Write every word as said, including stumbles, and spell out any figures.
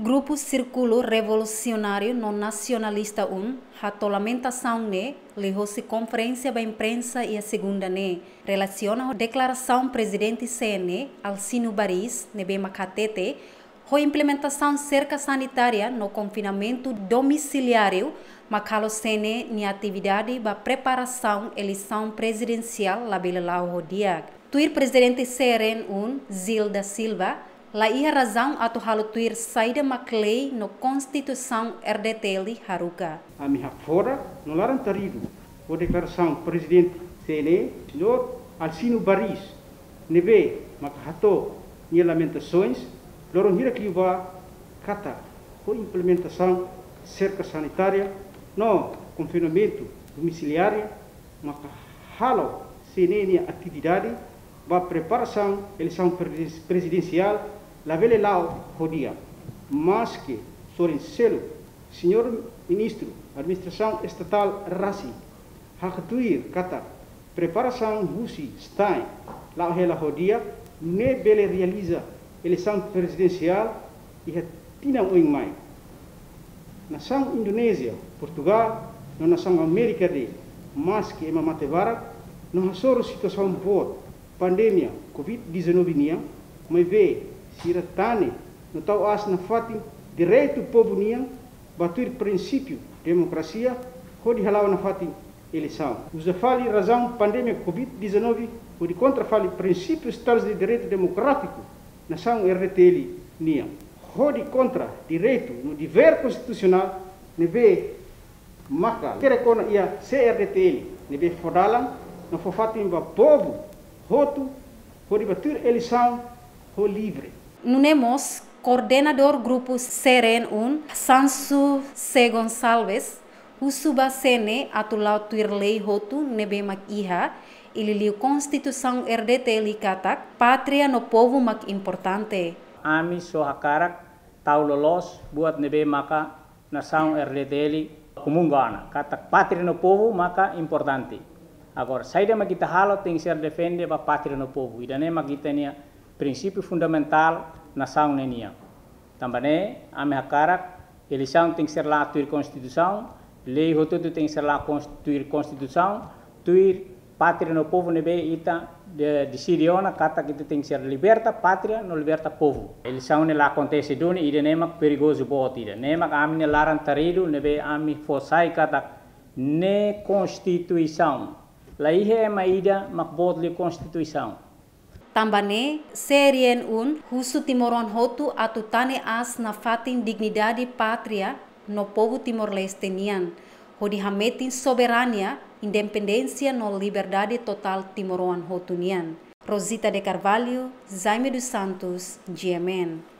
Grupu Sírkulu Revolusionáriu no Nasionalista un hato'o lamentasaun ne'e liuhosi konferénsia ba imprensa iha segunda ne'e, relasiona ho deklarasaun Prezidente C N E, Alcino Baris, ne'ebé mak hatete, ho implementasaun serka sanitária no konfinamentu domisiliáriu mak halo C N E nia atividade ba preparasaun eleisaun prezidensiál labele la'o ho di'ak. Tuir Prezidente C R N un, Gil da Silva, la iha razaun atu halo tuir saida mak lei no konstituisaun R D T L haruka. Ami hakfodak no laran-taridu ho deklarasaun Prezidente C N E, Señór Alcino Baris, ne'ebé maka hato'o nia lamentasaun loron hirak liubá katak ho implementasaun serka sanitária no konfinamentu domisiliáriu maka halo C N E nia atividade ba preparasaun eleisaun preziden-, prezidensiál labele la'o ho di'ak. Maske sorin seluk, Señór Ministru Administrasaun Estatál rasik haktuir katak preparasaun husi STAE la'o hela ho di'ak, nune'e bele realiza eleisaun prezidensiál iha tinan oin mai. Nasaun Indonézia, Portugál, no nasaun Amérika do Sul, maske ema mate barak no hasoru situasaun boot pandemia covid dezanove nian, maibé sira tane no tau aas nafatin direitu povu nian ba tuir prinsípiu demokrasia hodi hala'o nafatin eleisaun. Uza fali razaun pandemia covid dezanove hodi kontra fali prinsípiu Estadu de Direitu Demokrátiku nasaun R D T L nian, hodi kontra direitu no devér konstitusionál ne'ebé maka kere kona iha C R D T L, ne'ebé fó dalan no fó fatin ba povu hotu hodi ba tuir eleisaun ho livre. Nune'e mós, koordenadór grupu C R N un, Sansu C Gonçalves, husu ba C N E atu la'o tuir lei hotu ne'ebé mak iha, i liuliu konstituisaun R D T L katak pátria no povu mak importante. Ami só hakarak tau loloos buat ne'ebé maka nasaun R D T L komunga ona, katak pátria no povu maka importante. Agora, saida mak ita halo tenke ser defende ba pátria no povu. Ida-ne'e mak ita-nia prinsípiu fundamentál nasaun ne'e nian. Tanba ne'e, ami hakarak eleisaun tenke ser la'o tuir konstituisaun, lei hotu-hotu tenke ser la'o kons-, tuir konstituisaun, tuir pátria no povu ne'ebé ita de-, deside ona katak ita tenke ser liberta pátria no liberta povu. Eleisaun ne'e la akontese duni, ida-ne'e mak perigozu boot ida. Ne'e mak ami-nia laran-taridu ne'ebé ami fó sai katak ne'e konstituisaun. La iha ema ida mak boot liu konstituisaun. Tanba ne'e, C R N un husu timoroan hotu atu tane aas nafatin dignidade pátria no povu Timor-Leste nian, hodi hametin soberania, independénsia no liberdade totál timoroan hotu nian. Rosita de Carvalho, Jaime dos Santos, G M N.